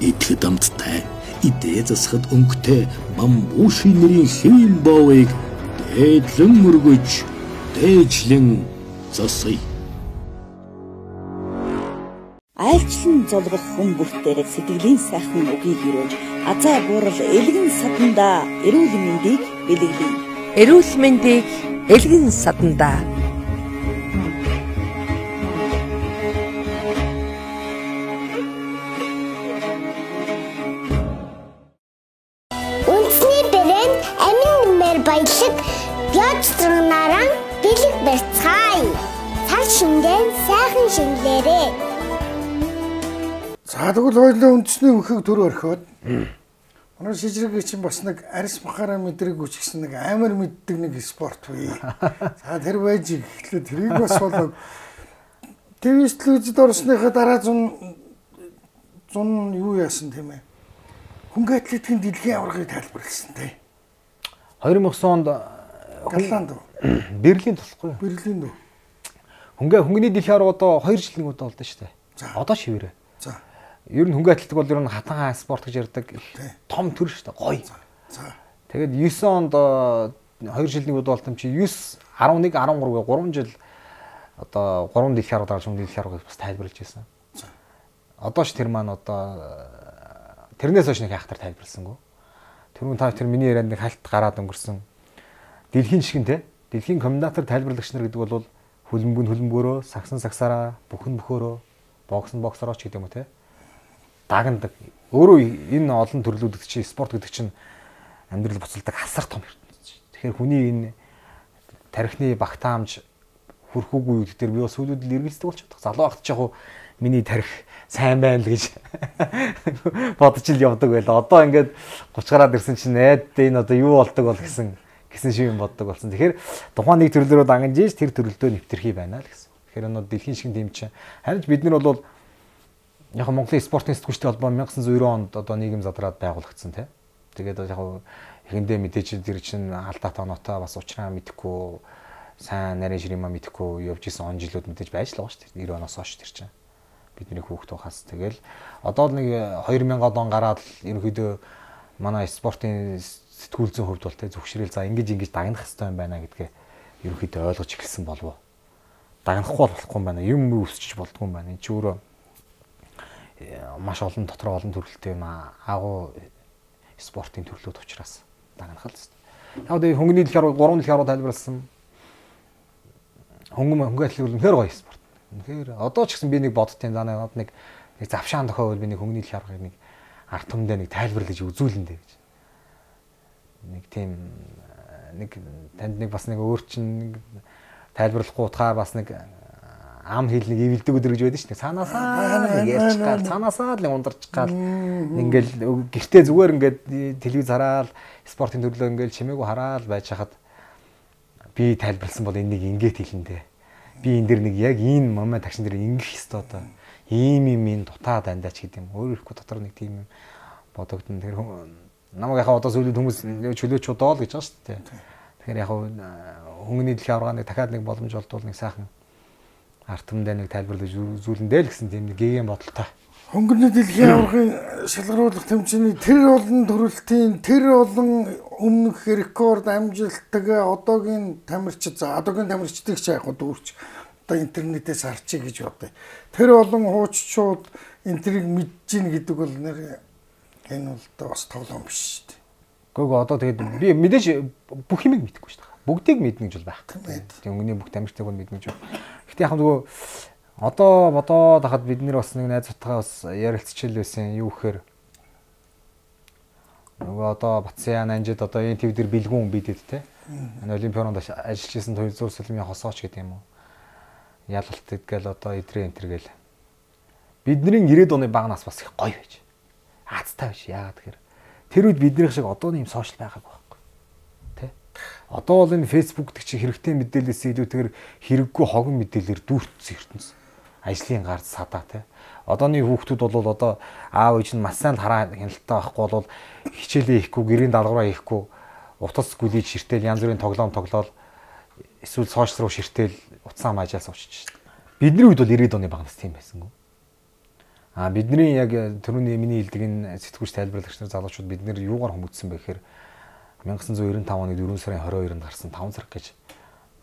Итгэд амттай идэ засахад өнгөтэй бамбууши нэрийн хэвийн боовыг дээдлэн мөргөж дээжлэн засъя.
Айлчлан золгох хүн бүртээр сэтгэлийн сайхан үгийг өрөөж азаа буурал элгэн садандаа эрүүл мэндийг бэлэглэе.
Эрүүл мэндийг элгэн садандаа.
Үндэсний брэнд амин нэмэр баялаг бяцтрагнараа бэлэг барьцгаая. Цар шингэн сайхан шингэлээрээ.
За тэгвэл хоёулаа үндэсний өнхийг төр орхиод манай шижрэг чинь бас нэг арьс махаараа мэдрэг үчгсэн нэг амар мэддэг нэг спорт бий. За тэр байж ихлээр тэрийг бас болоо ТV телевизэд орсныхаа дараа 100 юу яасан тийм ээ. Хөнгө атлетикийн дэлхийн аваргыг тайлбарласан тий.
2009 онд
Голланд
Берлин тусахгүй.
Берлин үү.
Хөнгөний дэлхийн аварга одоо 2 жилийн удаа болдоо шүү дээ. Одоо шивэрээ.
За.
Ер нь хөнгө атлетик бол ер нь хатан спорт гэж ярьдаг. Том төр шүү дээ. Гоё.
За.
Тэгээд 9 онд 2 жилийн удаа болтом чи 9 11 13 3 жил одоо 3 дэлхийн аварга дарж дэлхийн аваргыг бас тайлбарлаж байсан. Одоо ш тэр маань одоо тэрнээс хойш нэг хайхтар тайлбарласангүй. Тэр миний ярианд нэг хальт гараад өнгөрсөн. Дэлхийн шиг нь те. Дэлхийн комментатор тайлбарлагч нар гэдэг бол хөлбөмбөгөөрөө, сагсан сагсаараа, бүхэн бөхөөрөө, боксороо ч гэдэг юм уу те. Дагнадаг. Өөрөө энэ олон төрлүүд чинь спорт гэдэг чинь амьдрал буцалдаг асар том ертөнцийн. Тэгэхээр хүний энэ тархины багтаамж хүрхүүгүй үед дээр би бас сүүлүүд л эргэлздэг болчиход. Залуу багт ч яг хуу миний тарих сайн байна л гэж бодож ил явдаг байла. Одоо ингээд 30 гараад ирсэн чинь энэ одоо юу болдог бол гэсэн шиг юм боддог болсон. Тэгэхээр тухайн нэг төрлөөрөө дангаж тэр төрлдөө нэвтэрхий байна л гэсэн. Тэгэхээр өнөө дэлхийн шиг тийм чинь харин бид нар бол яг Монголын спортын сэтгүүлчтэй холбоо 1990 онд одоо нийгэм задраад байгуулагдсан тий. Тэгээд яг ихэндээ мэдээж тэр чинь алдаа тоноотой бас уучраа мэдэхгүй сайн нарийн ширмаа мэдэхгүй явж исэн он жилүүд мэдээж байж л байгаа шүү дээ. 90 оноос хойш тэр чинь бидний хүүхд тухаас тэгэл одоо нэг 2000 он гараад ерөнхийдөө манай спортын сэтгүүл зүйн хувьд бол тэ зөвшөөрөл за ингэж дагнах хэрэгтэй юм байна гэдгээ ерөнхийдөө ойлгож эхэлсэн болов. Дагнахгүй болохгүй юм байна. Юм өсчих болдгүй юм байна. Энд чи өөрөө маш олон дотор олон төрөлтэй юм агуу спортын төрлүүд учраас дагнах л хэвээр. Яг дээ хөнгөний дэлхийн аварга 3 дэлхийн аварга тайлбарласан. Хөнгө атлетик бол үнэхээр гоё спорт. Тэгэхээр одоо ч гэсэн би нэг боддtiin за нэг завшаан тохиол би нэг хөнгөний дэлхийн аваргыг нэг ард түмэндээ нэг тайлбарлаж үзүүлэндээ гэж. Нэг тийм нэг танд нэг бас нэг өөр чинь тайлбарлахгүй утгаар бас нэг ам хэл нэг ивэлдэг өдөр гэж байдаг шүү дээ. Цаанаасаа нэг ярьж гал, цаанаасаа л ундарч гал ингээл гэртээ зүгээр ингээд телевиз хараад спортын төрлөө ингээл чимээгүй хараад байж хахад би тайлбарласан бол энийг ингээд хэлэндээ. Би энэ дэр нэг яг энэ момент тагшин дээр ингэх ёстой одоо. Ийм юм дутаа дандаач гэдэг юм. Өөр ихгүй дотор нэг тийм юм бодогдсон. Тэр намайг яхаа одоо сүүлийн хүмүүс чөлөөч удаа л гэж байгаа шүү дээ. Тэгэхээр яг хөнгөний дэлхийн аваргааны дахиад нэг боломж олдвол нэг сайхан ард түмэндээ нэг тайлбарлаж үзүүлэндээ л гэсэн тийм нэг гэгээн бодолтой.
Хөнгөний дэлхийн аваргын шалгаруулах тэмцээний тэр олон төрөлтийн тэр олон өмнөх рекорд амжилттай одоогийн тамирчид за одоогийн тамирчдыг ч яг дүүрч одоо интернетээс харчих гэж бодъё. Тэр олон хууччууд энтрийг мэдж гин гэдэг бол нэр энэ бол бас тоглоом биш шүү дээ.
Гэхдээ одоо тэгээд би мэдээж бүх юмыг мэдэхгүй шүү дээ. Бүгдийг мэднэ гэж бол байхгүй. Тийм өнгөний бүх тамирчдыг бол мэднэ гэж байна. Гэхдээ яг нөгөө одоо бодоод хахад бид нэр бас нэг найзуудтайгаа бас ярилцчихэл байсан. Юу гэхээр Нөгөө одоо Батсян анжид одоо энэ төв дээр бэлгүүн бидэд те. Энэ олимпионд ажиллаж исэн Төвлөрийн сүлмийн хосооч гэдэг юм уу. Ялалт гэдгээл одоо идрээ энтер гээл. Бидний 90-ад оны багнаас бас их гоё байж. Аацтай биш. Яагаад тэгэхээр тэр үед биднийх шиг одооны юм сошиал байгаагүй байхгүй. Тэ? Одоо бол энэ Facebook гэдэг чинь хэрэгтэй мэдээлэлээс илүүтэйгээр хэрэггүй хогон мэдээлэлээр дүүртсэн ертөнц. Ажлын гард садаа тэ. Одооны хүүхдүүд бол одоо аав ээж нь маш сайн хараа хяналттай байхгүй бол хичээлээ хийхгүй, гэрийн даалгавраа хийхгүй, утас гүлийж ширтэл янз бүрийн тоглоол эсвэл сошиал руу ширтэл утсаа маажаас уучиж шин. Бидний үед бол 90-ад оны багнаас тийм байсангүй. Бидний яг түрүүний миний хэлдэг энэ сэтгүүлч тайлбарлагч нар залуучууд бид нэр юугаар хүмүүжсэн бэ гэхээр 1995 оны 4 сарын 22-нд гарсан 5 сарг гэж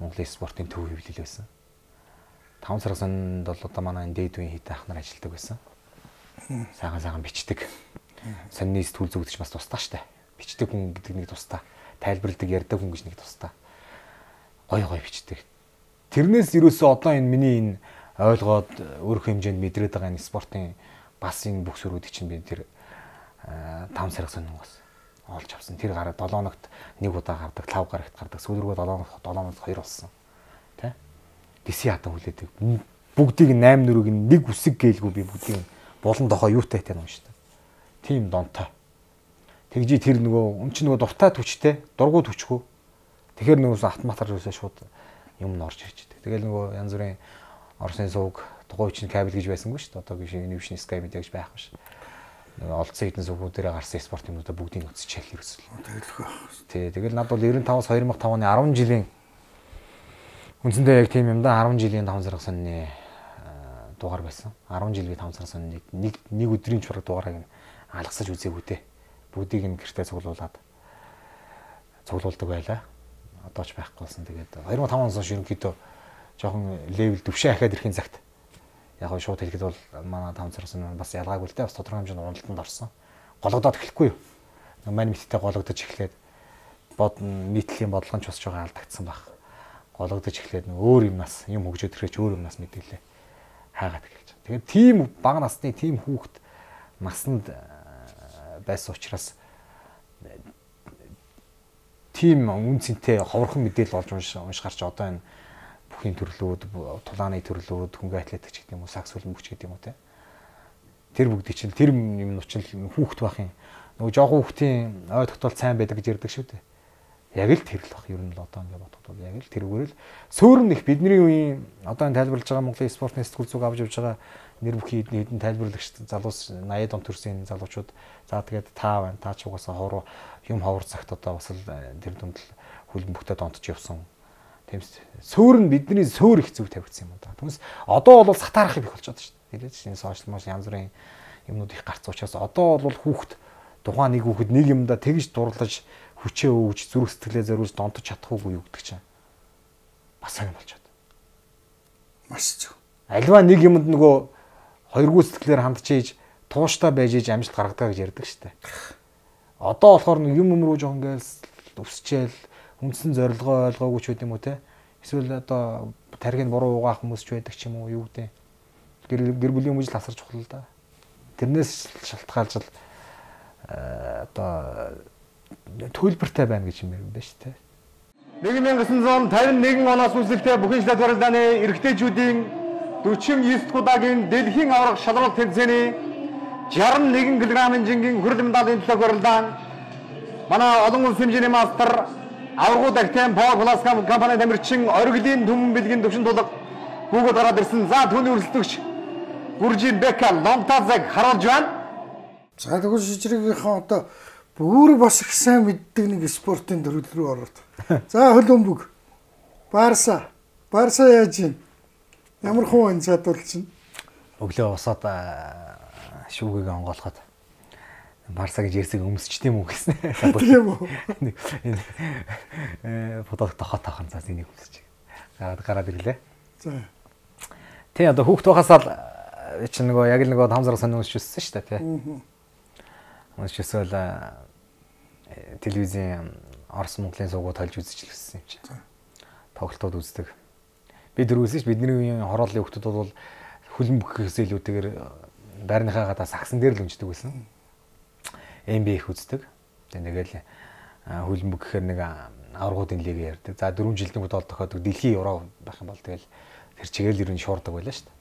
Монголын спортын төв хэвлэл байсан. 5 сарганд бол одоо манай дээдвийн хит ах нар ажилладаг байсан. Сайхан бичдэг. Сонины сэтгүүл зүгдэж бас тусдаа штэ. Бичдэг хүн гэдэг нэг тусдаа, тайлбарладаг ярьдаг хүн гэж нэг тусдаа. Гой бичдэг. Тэрнээс юусоо одоо энэ миний энэ ойлгоод өөрөх хэмжээнд мэдрээд байгаа энэ спортын бас энэ бүх сүрүүдийг чинь би тэр 5 сарг сонингоос олж авсан. Тэр гараад 7 хоногт нэг удаа гардаг, 5 гарагт гардаг. Сүүлрүү 7 хоногт 2 болсон. Тэ? Диси хатан хүлээдэг. Бүгдийг 8 нүрийг нэг үсэг гээйлгүй би бүгдийг болон дохоо юутай тань юм шүү дээ. Тим донтой. Тэгжи тэр нөгөө өмч нөгөө дуртай түчтэй, дургуй түчгүй. Тэгэхээр нөгөөс автоматар юусаа шууд юм н орж ирж дээ. Тэгэл нөгөө янз бүрийн Оросны сувг, тугуйчин кабель гэж байсангүй шүү дээ. Одоогийн шиг нэвшний Sky Media гэж байхгүй ш. Нөгөө олдсон хэдэн сувгуудаараа гарсан спорт юмнуудаа бүгдийг үзчихэл ерөөсөл. Тэгэлгүй. Тий, тэгэл над бол 95-аас 2005 оны 10 жилийн үндсэндээ яг тийм юм да 10 жилийн 5 сарг сонины дугаар байсан. 10 жилийн 5 сарг сонины нэг өдрийн чураг дугаарыг алгасаж үзээгүй те. Бүгдийг нь гэртээ цуглуулдаг байлаа. Одоо ч байхгүй болсон. Тэгээд 2005 оноос хойш ерөнхийдөө жоохон левел дэвшээ ахаад ирэхин цагт яг гоо шууд хэлэхэд бол манай 5 сарсан бас ялгаагүй л дээ бас тодорхой хэмжээнд уналтанд орсон. Гологдоод эхлэхгүй юу. Мань мэттэй гологдож эхлээд нийтлийн бодлогоч бас жоохон алдагдсан баг. Гологдож эхлээд өөр юмнаас юм хөгжөөд ирэхэж өөр юмнаас мэдээлээ хайгаад эхэлж байгаа. Тэгээд тийм бага насны тийм хүүхэд насанд байсан учраас тийм үнцэнтэй ховорхон мэдээлэл олж уншгарч одоо энэ бүхийн төрлүүд, тулааны төрлүүд, хөнгө атлетик гэдэг юм уу, сакс хөлбөмбөгч гэдэг юм уу те. Тэр бүгд чинь тэр юм нуучил хүүхэд бахын нөгөө жоохон хүүхдийн ой тогтоол сайн байдаг гэж ярьдаг шүү дээ. Яг л тэр л бах ер нь л одоо ингэ бодоход яг л тэрүүгээр л сөөрн их бидний үеийн одоо энэ тайлбарлаж байгаа Монголын спортын сэтгүүл зүг авч явж байгаа нэр бүхий хэдэн тайлбарлагч залуус 80 он төрсэн залуучууд за тэгээд та байна, та ч угаасаа ховор цагт одоо бас л тэр дүнд л хөлбөмбөгтөд онтож явсан. Тэмс сөөр нь бидний сөөр их зүг тавигдсан юм да. Түүнээс одоо бол сатаарах их болчиход шүү дээ. Тэгээд энэ сошиал маш янз бүрийн юмнууд их гарц учраас одоо бол хүүхэд тухайн нэг хүүхэд нэг юмда тэгж дурлаж хүчээ өгж зүрх сэтгэлээ зориулж донтож чадахгүй юу гэдэг чинь бас сайн болчиход. Маш зөв. Альва нэг юмд нөгөө хоёргүй сэтгэлээр хандчихээж тууштай байж иж амжилт гаргадаг гэж ярьдаг шүү дээ. Одоо болохоор нэг юм руу жоон гээл өсчээл үндсэн зорилгоо ойлгоогүй ч үгүй юм уу те. Эсвэл одоо тархинд буруу угаах хүмүүс ч байдаг ч юм уу юу гэдэг. Гэр бүлийн хүмүүжил асар чухал л да. Тэрнээс шалтгаалж одоо төлбөртэй байна гэж юм байна шүү дээ. 1951 оноос үүсэлтэй бүхэн шилээд барилдааны эрэгтэйчүүдийн 49 дахь удаагийн дэлхийн аварга шалралт тэмцээний 61 кг-ын жингийн хүрээлэн медалийн төлөв барилдаан манай олон улсын хэмжээний мастер аваргуу Дактен Power Plus компани тамирчин оргилын түмэн бэлгийн төвшин тулга бүгд гараад ирсэн. За түүний өрсөлдөгч Гүржин Бека Ломтазаг харуулж байна.
За тэгвэл шижрэгийнхаа одоо бүр бас их сайн мэддэг нэг спортын төрөл рүү ороод. За хөлбөмбөг. Барса яаж юм? Ямар хувийн чадварлж байна?
Өглөө босоод шүүгийг онгоолоход Барса гэж ярьсаг өмсчтэй юм уу гэсэн.
Тийм үү.
Фотог тохоо тахын цаас энийг өмсөж. Гараад ирлээ.
За.
Тэ одоо хүүхд байхасаа чи нөгөө яг л нөгөө 5 сар сонин өмсчихсэн шүү дээ, тий. Өмсчихсэл телевизийн Орос Монголын суугууд толж үзчихлээсэн юм чи. Тоглолтууд үздэг. Бид дөрвөөс бидний үеийн хорооллын хүүхдүүд бол хөлбөмбөгөөс илүүтэйгээр байрныхаа гадаа сагсан дээр л унждаг байсан. NBA их үздэг. дээ. Тэгэл хөлбөмбөг гэхээр нэг аваргуудын лиг ярьдаг. За 4 жилийн удаа тохиодог дэлхийн евро байх юм бол тэгэл тэр чигээр л ер нь шуурдаг байлаа шүү дээ.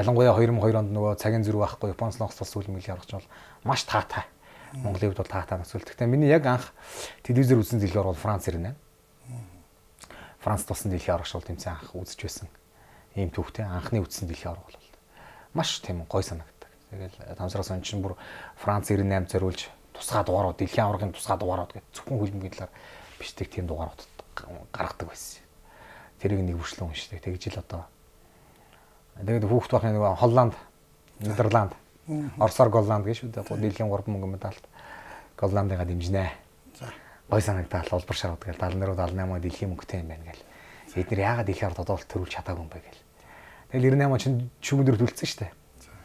Ялангуяа 2002 онд нөгөө цагийн зүрх байхгүй Японоос Лонгос улс хөлбөмбөгийг гаргаж бол маш таатай. Монголын хувьд бол таатай нас үлдэх. Миний яг анх телевизээр үзсэн дэлхийн орол Франц ирнэ. Францд болсон дэлхийн арга шууд тэмцээн анх үзэж байсан. Ийм түүхтэй анхны үзсэн дэлхийн арга бол маш тийм гой санагддаг. Тэгэл тамсраас он чинь бүр Франц 98 зориулж тусгай дугаарууд дэлхийн аваргын тусгай дугаарууд гэж зөвхөн хөлбөмбөгийн талаар бичдэг тийм дугаарууд гаргадаг байсан. Тэрийг нэг хүршлэн уншдаг. Тэгж л одоо тэгээд хүүхд байхны нэг Холланд, Нидерланд, Оросоор Голланд гэж шүү дээ. Дэлхийн 3 мөнгө медальт Голландыгаа дэмжинэ. За. Гой санагдал улбар шарууд гэл 74-78 дэлхийн мөнгөтэй юм байна гэл. Эдгээр яагаад дэлхийн ард одоо төрүүлж чадаагүй юм бэ гэл. Тэгэл 98 чинь шүмүндөр төлцсөн шүү дээ.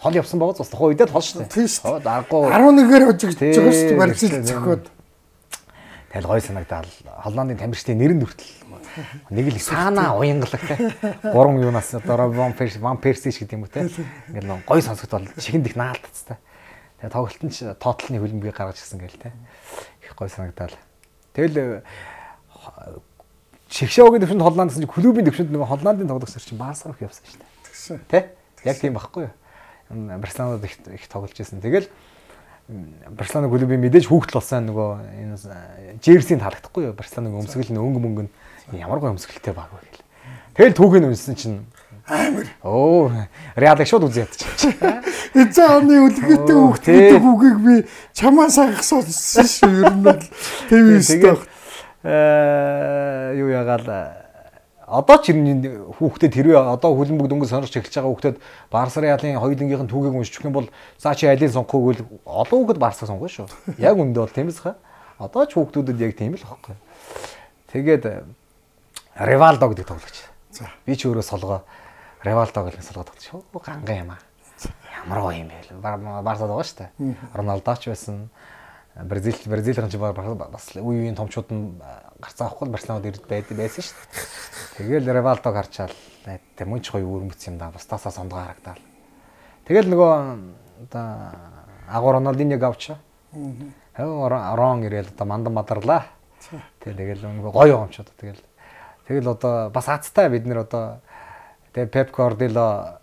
Хол явсан байгаа ч тухайн үедээ хол шүү дээ.
Хоо дараагүй 11-ээр хожигдж байгаа шүү дээ. Барилж зөхөд.
Тэгэл гой санагдал Холландын тамирчдын нэрэн хүртэл нэг л саана уянгалагтай 3 юунаас одоо Ван Перси гэдэг юм уу те. Ингээл гой сонсогдол чихэнд их наалтцтай. Тэгээ тоглолтын ч тоотлны хөлбөмбөгийг гаргаж ирсэн гээл те. Их гой санагдал. Тэгэл Шигшоогийн төвшөнд Холландаас чинь клубын төвшөнд нэг Холландын тоглогчдор чинь Барса руу явсан шүү дээ. Тэ? Яг тийм байхгүй юу? Барселонад их тоглож байсан. Тэгэл Барселона клубын мэдээж хүүхдэл болсон нөгөө энэ Жерсийн таалагдахгүй юу? Барселоныг өмсгөл өнгө мөнгө нь ямар гой өмсгөлтэй баг вэ гэл. Тэгэл түүхийг үнсэн чинь амар. Оо, Реалыг шууд үзээд ядчих.
Эцэг оны үлгэтэй хүүхдтэй хүүгийг би чамаас агсуулсан шүү. Ер нь бол тийм юу ягаал одоо ч хүүхдэд хэрвээ одоо хөлбөмбөг дөнгөж сонирч эхэлж байгаа хүүхдэд Барса Реалын хоёулынгийнх нь түүхийг уншчих юм бол цаа чи алийг сонгохгүйг олон хүүхэд Барсаг сонгоно шүү. Яг үндэ бол тиймээс хаа. Одоо ч хүүхдүүдэд яг тийм л байхгүй. Тэгээд Ривалдо гэдэг тоглогч. За би ч өөрөө солгоо Ривалдо гэдэг солгоод тоглож. Ганган юм аа. Ямар гоё юм бэ? Барсад байгаа шүү дээ. Роналдоч байсан. Бразил ран ч бас үеийн томчууд нь гарцаа авахгүй Барселонад ирд байсан шүү дээ. Тэгэл Ривалдо гарчаал тийм мөнч гоё өрмөц юм да. Бусдаасаа сондгоо харагдаад. Тэгэл нөгөө одоо агуу Роналдиньог авчаа. Рон ирээл одоо мандан мадарлаа. Тэгэл нөгөө гоё юмчууд тэгэл одоо бас азтай бид нэр одоо тэгээ Пеп Гвардиола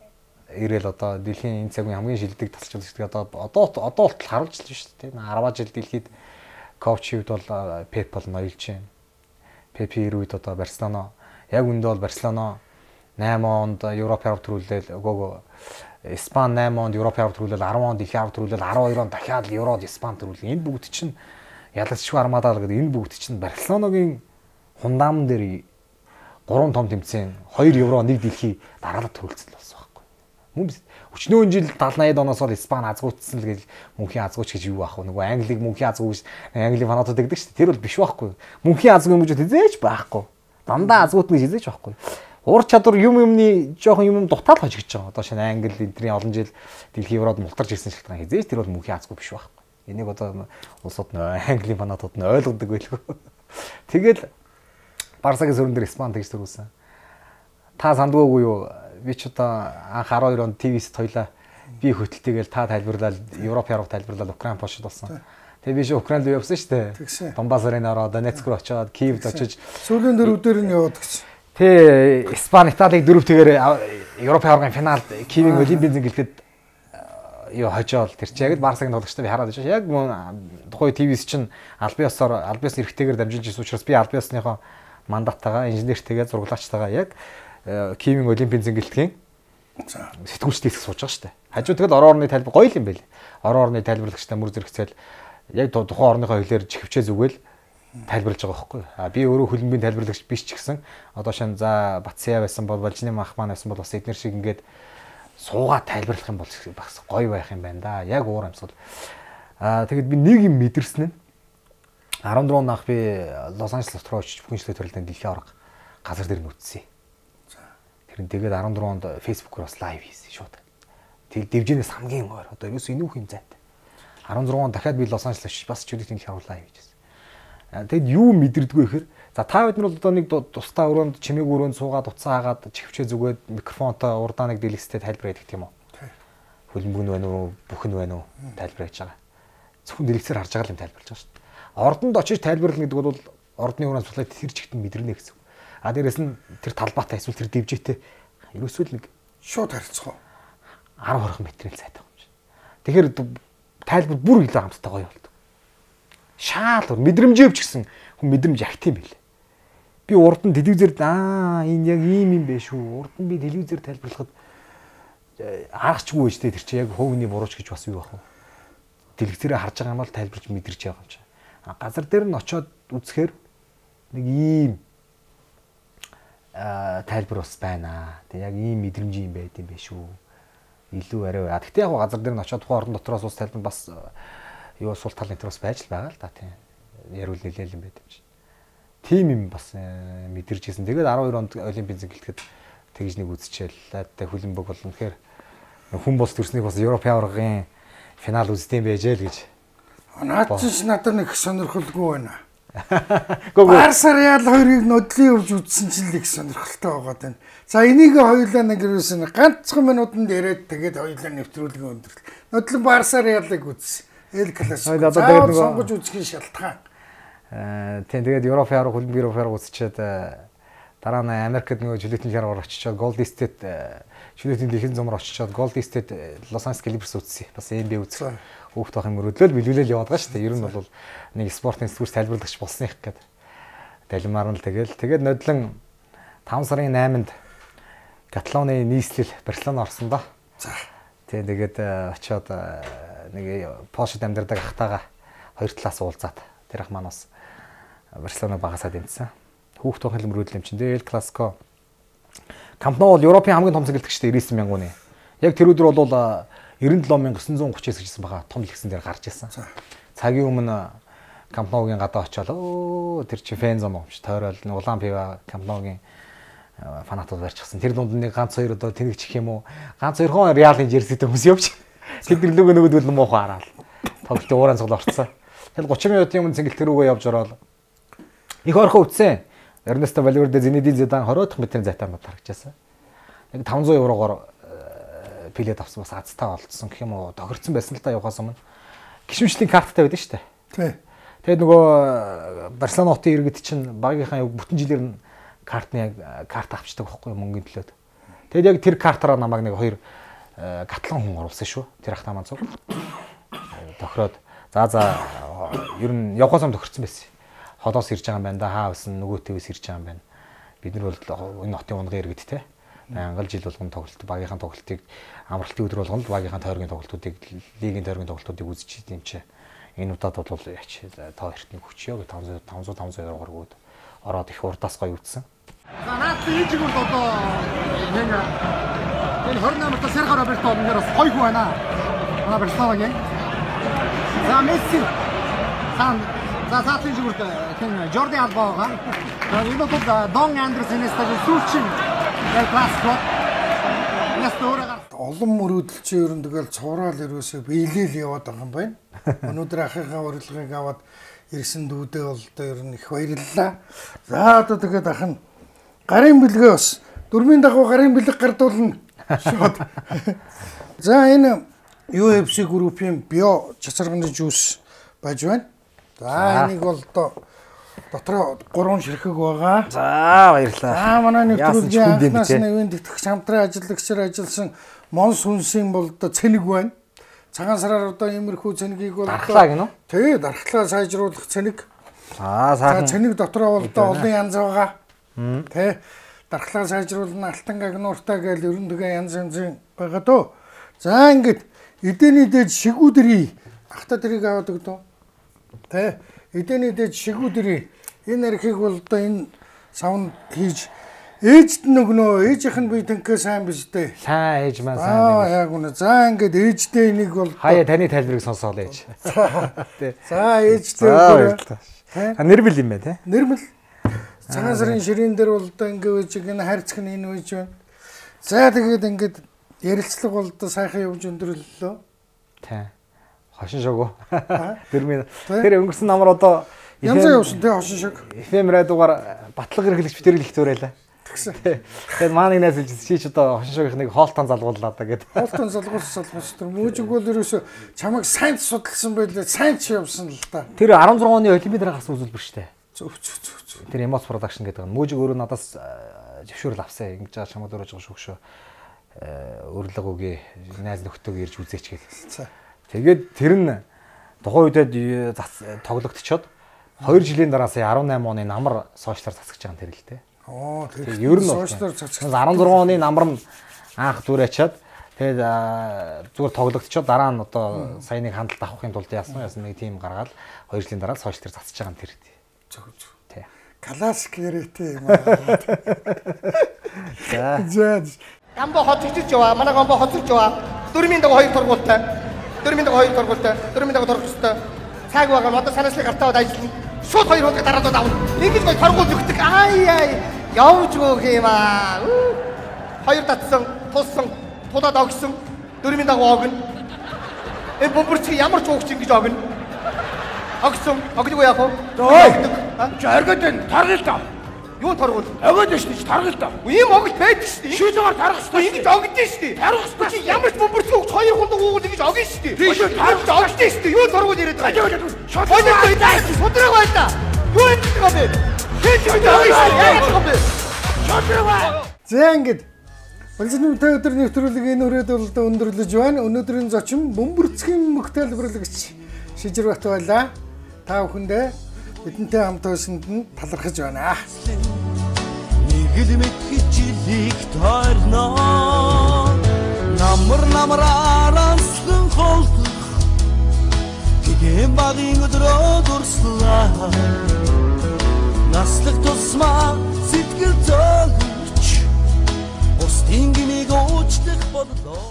ирээл одоо дэлхийн энэ цагийн хамгийн шилдэг тасалж байгаа одоо болтол харуулж л шүү дээ. 10 жил дэлхийд коучид бол Пеп бол ноёлж байна. Пепи ирээд одоо Барселона яг үндэ бол Барселона 8 онд Европ аварга төрүүлэл өгөөгөө Испани 8 онд Европ аварга төрүүлэл 10 онд дэлхийн аварга төрүүлэл 12 онд дахиад Еврод Испани төрүүлэл энэ бүгд чинь ялагчгүй армадаа л гэдэг энэ бүгд чинь Барселоногийн хундаамн дээр 3 том тэмцээн 2 евро 1 дэлхий дараалал төрүүлсэн болсон байхгүй. Мөн өчнөө жил 70-80 оноос бол Испани азгуутсан л гэж мөнхийн азгууч гэж юу аахгүй. Нөгөө Англиг мөнхийн азгууч Английн фанатууд гэдэг чинь тэр бол биш байхгүй. Мөнхийн азгуу юм гэж хизээч байхгүй. Дандаа азгуутна гэж хизээч байхгүй. Ур чадвар юмны жоохон юм дутаал хожигдож байгаа. Одоо шинэ Англи эдний олон жил дэлхийн еврод мултарч ирсэн шалтгаан хизээч тэр бол мөнхийн азгуу биш байхгүй. Энийг одоо улсууд нь Английн фанатууд нь ойлгодог байлгүй. Тэгэл Барсагийн сүрэн дээр Испани тэгж төрүүлсэн. Та сандгоогүй юу? Би ч одоо анх 12 онд ТV-с тойлоо би хөтөлтэйгээл та тайлбарлал Европ яруу тайлбарлал Украин Польшид болсон. Тэгээ би Украинд руу явсан шүү дээ. Донбасс аренаар Донецк руу очиод Киевд очиж сүүлийн дөрөвдөр нь яваад гэж.
Тэ Испани Италиг дөрөвтэйгээр Европ яруугийн финалд Киевийн Олимпийн зингэлтэд юу хожоол тэр чи яг л Барсагийн тоглогчтой би хараад байж. Яг тухай ТV-с чинь Альбиос эрэгтэйгээр дамжуулж ирсэн учраас би Альбиосныхоо мандаттайгаа инженертэйгээ зурглаачтайгаа яг Киевийн Олимпийн зингэлтгийн сэтгүүлчдээс сууж байгаа шүү дээ. Хажуу тэгэл орон орны тайлбар гоё юм байл. Орон орны тайлбарлагчтай мөр зэрэгцээл яг тухайн орныхоо хэлээр чихвчээ зүгэл тайлбарлаж байгаа байхгүй. Би өөрөө хөлбөмбөгийн тайлбарлагч биш ч гэсэн одоо шин за Батсяа байсан бол Валжины Махман байсан бол бас эднэр шиг ингээд суугаад тайлбарлах юм бол бас гоё байх юм байна да. Яг уур амьсгал. Тэгэд би нэг юм мэдэрсэн нь 14 он ах би Лос Анжелес руу очиж бүхэнчлээ төрөлтөнд дэлхийн аварга газар дээр нүцсэн. Тэр нь тэгээд 14 онд Facebook-оор бас лайв хийсэн шууд. Тэг дэвжэнээс хамгийн ойр одоо ерөөс энэ үхэн зайтай. 16 он дахиад би Лос Анжелес очиж бас чөлөөтийн дэлхийн аварга лайв хийжсэн. Тэгэд юу мэдэрдэггүй гэхээр за та бид нар бол одоо нэг тусдаа өрөөнд чимээг өрөөнд суугаад уцаа хагаад чихвчээ зүгээд микрофонтой урдааныг дэлгэстэй тайлбар хийдэг тийм үү. Хөлбөмбөг нь байна уу, бүхэн байна уу тайлбар хийж байгаа. Зөвхөн дэлгэцээр харж байгаа юм тайлбарлаж байгаа шүү дээ. ордонд очиж тайлбарлана гэдэг бол ордны өрөөнд судлаад тэр чигт мэдрэнэ гэсэн. А дээрэс нь тэр талбайтай эсвэл тэр дивжээтэй ерөөсөө нэг
шууд харилцах уу?
10-20 метрийн сайтай юм чинь. Тэгэхээр тайлбар бүр илүү хамттай гоё болдог. Шаал мэдрэмжээвч гэсэн хүн мэдрэмж ягт юм билээ. Би урд нь телевизээр энэ яг ийм юм бэ шүү. Урд нь би телевизээр тайлбарлахад аргачгүй байж тэр чинь яг хөвгний бурууч гэж бас юу байх вэ? Телевизээр харж байгаа юм бол тайлбарж мэдэрч байгаа юм чинь. Газар дээр нь очиод үзэхээр нэг ийм тайлбар бас байна. Тэг яг ийм мэдрэмж юм байд юм бэ шүү. Илүү арай. Гэхдээ яг газар дээр нь очиод тухайн орон дотроос ус тайлбар бас юу сул тал нэтер бас байж л байгаа л да тийм. Ярил нэлээл юм байд юм чинь. Тим юм бас мэдэрч ирсэн. Тэгээд 12 онд олимпийн зингэлтэд тэгж нэг үзчихэл. Тэ хөлбөмбөг бол үнэхээр хүн бус төрснийг бас Европын аваргын финал үздэм байжээ л гэж.
Наад чинь надад нэг сонирхолгүй байна. Барса Реал хоёрыг нодлын өвж үзсэн чинь л их сонирхолтой байгаа тань. За энийг хоёулаа нэг юусэн ганцхан минутанд яриад тэгээд хоёулаа нэвтрүүлгээ өндөрлөө. Нодлон Барса Реалыг үзсэн. Эл классик. За сонгож үзэх шалтгаан.
Тийм тэгээд Европын аварга хөлбөмбөг Европын аварга үзчихэд дараа нь Америкт нөгөө жилетний шаргаар очичоод Golden State жилетний дэлхийн зумаар очичоод Golden State Los Angeles Clippers үзсэн. Бас NBA үзсэн. Хүүхд байх юм мөрөдлөл билүүлэл яваад байгаа шүү дээ. Ер нь бол нэг спортын сэтгүүрс тайлбарлагч болсон их гээд далимаар нь тэгээд нодлон 5 сарын 8-нд Каталоны нийслэл Барселона орсон доо. За. Тэгээд очиод нэг Польшид амьдардаг ахтайгаа хоёр талаас уулзаад тэр ах маань бас Барселона багасаа дэмжсэн. Хүүхд байх юм мөрөдлөл юм чинь. Эл Классико Камп Nou бол Европын хамгийн том зэглэгчтэй 90000 хүний. Яг тэр өдөр бол 97939 гэжсэн байгаа том лигсэн дээр гарч ирсэн. Цагийн өмнө Камп Nou-гийн гадаа очиод тэр чи фэн зам өмч тойрол улаан пива Камп Nou-гийн фанатууд барьчихсан. Тэр дунд нэг ганц хоёр одоо тэнэг чих юм уу? Ганц хоёрхон Реалын жерситэй хүмүүс явж. Тэд нөгөөдөл муухай хараад. Тоглолтын ууран цуглаа орцсон. Тэгэл 30 минутын өмнө цэнгэлт рүүгээ явж ороод их орхон үтсэн. Эрнесто Вальверде, Зинедин Зидан 20 дахь метрийн зайтаанууд харагдчихсан. Нэг 500 еврогоор пилет авсан бас азтай болцсон гэх юм уу? Тохирцсон байсан л та явахаас өмнө. Гишүүнчлийн карттай байдаг шүү дээ.
Тий.
Тэгээд нөгөө Барселона хотын иргэд чинь багийнхаа бүтэн жилээр нь картны карт авчдаг байхгүй мөнгөний төлөөд. Тэгээд яг тэр картаараа намайг нэг хоёр гатлан хүн оруулсан шүү. Тэр ахтаа маань зүг. Тохироод за ер нь явахаас өмнө тохирцсон байсан. Холоос ирж байгаа юм байна да. Хаавсан нөгөөтэйс ирж байгаа юм байна. Бид нар бол энэ хотын унгын иргэд те. Ангал жил болгон тоглолт багийнхаа тоглолтыг амралтын өдөр болгоно багийнхаа тойргийн тоглолтуудыг лигийн тойргийн тоглолтуудыг үзэж идэм чи. Энэ удаад бол яач та хоёрт нэг хүчөө 500 евроор өгөөд ороод их урдаас гоё үтсэн.
За наад ээжиг бол одоо энэ 28 дахь Серхио Роберто ингээд бас гоё хүн байна. Манай Барселонагийн. За Месси хан за цаатын зүгт хэн Жорди Алба байгаа. Энэ бол Дон Андерсенээс таг сүүлчин Эл Классико.
Олон мөрөөдөлчин ер нь тэгэл цувраал ерөөсөө биелэл яваад байгаа юм байна. Өнөөдөр ахыхаа урилгыг аваад ирсэн дүүдээ бол ер нь их баярлалаа. За одоо тэгээд ах нь гарын бэлгээ бас дөрмийн дагуу гарын бэлэг гардуулна. Шууд. За энэ UFC группийн био чацарганы жуус байж байна. За энийг бол дотроо 3 ширхэг байгаа.
За баярлалаа.
За манай нэвтрүүлгийн анхнаас нэвэн тэтгэгч хамтран ажиллагчаар ажилласан Монс хүнсийн бол цэник байна. Цагаан сараар одоо иймэрхүү цэнигийг бол
дархлаа гинөө.
Тий, дархлаа сайжруулах цэник.
Сайхан.
Цэник дотроо бол олон янз байгаа. Тий. Дархлаа сайжруулна алтан гагнууртай гэж ерөн тэгээ янз янзын байгаа дөө. За ингээд эдэний дээд шигүүдэрий ахта тэрийг аваад өгдөө. Тий. Эдэний дээд шигүүдэрий энэ архийг бол одоо энэ савнд хийж ээжд нөгнөө ээжийнх нь би тэнхээ сайн биш дээ.
Сайн ээж маань сайн.
Яг үнэ. За ингээд ээждээ энийг бол
хаяа таны тайлбарыг сонсоол ээж.
За ээждээ.
Нэрмэл юм байна те.
Нэрмэл. Цагаан сарын ширээн дээр бол одоо ингээд үеж энэ хайрцаг нь энэ үеж байна. За тэгээд ингээд ярилцлага бол одоо сайхан явж өндөрлөлөө.
Тий. Хошин шогоо. Нэрмэл. Тэр өнгөрсөн намар одоо
янзаа явсан тий хошин шог.
FM радиогаар батлага хэрэглэгч битэрэл их зөөрэлээ.
тэгсэн.
Тэгээд маань нэг найз хэлж чи ч одоо хошин шогийнхныг хоолтон залгууллаа да гэдэг.
Хоолтон залгуулсан тэр мужиг бол ерөөсө чамайг сайн судалсан байлээ. Сайн ч явсан л та.
Тэр 16 оны олимпиадаар гарсан үзүүлбэр штэ.
Зөв.
Тэр Emoz production гэдэг нь мужиг өөрөө надаас зөвшөөрөл авсан. Ингэж чамд өрөөж байгаа шүү. Өрлөг үгүй найз нөхдөг ирж үзээч гэх. Тэгээд тэр нь тухайн үедээ тоглогдчиход 2 жилийн дараа сая 18 оны намар сошиалар засагч байгаа тэр л дээ.
Тэр
ер нь
сошиалар засагч
16 оны намар нь анх дүр ачаад тэгээд зүгээр тоглогдчиход дараа нь одоо саяныг хандлт авахын тулд яасан нэг тим гаргаад 2 жилийн дараа сошиалар засаж байгаа юм тэр.
Зөв. Тий. Классик яриатэй юм аа. За.
Гамбо хотчиж яваа. Манай гамбо хотчиж яваа. Дөрмийн dag 2 торгуултай. Дөрмийн даг 2 торгуултай. Цаг байгаа одоо санаачлыг гартаад ажиллана. Шууд 2 удаа дараад авна. Ингэж гой торгуул өгдөг. Явж өөх юм аа. 2 татсан, тулсан, тулаад огсон. Дөрмийн даг огно. Бомбөрч ямар ч уугч ингэж огно. Огсон, огдгүй яах вэ? Чи оргод энэ таргал та. Юу торгуул? Огод шүү дээ, таргал та. Ийм огт байдаг шүү дээ. Шийдвэр таргах шүү дээ. Ингэж огдсон шүү дээ. Таргах шүү дээ. Чи ямар ч бомбөрч уугч 2 хундаг уугуул ингэж огно шүү дээ. Тийм шүү, таргаж огдсон шүү дээ. Юу торгуул яриад байгаа. Шодрог байта. Юу юм бэ? Хийж байгаа шүү дээ. Шодрог бай.
За ингэж Балжны өдөр нэвтрүүлэг энэ үрээд бол өндөрлөж байна. Өнөөдрийн зочин бөмбөрцгийн мөх тайлбарлагч Шижирбат байлаа. Та бүхэндээ бидэнтэй хамт байсанд нь талархаж байна.
Нэг л мэдхичлийг тойрноо. Намраараа сан холдох. Гэм багын өдрөө дурслаа. Наслах тусмаа сэтгэл зөгч. Устын гинийг уучлах бодлоо.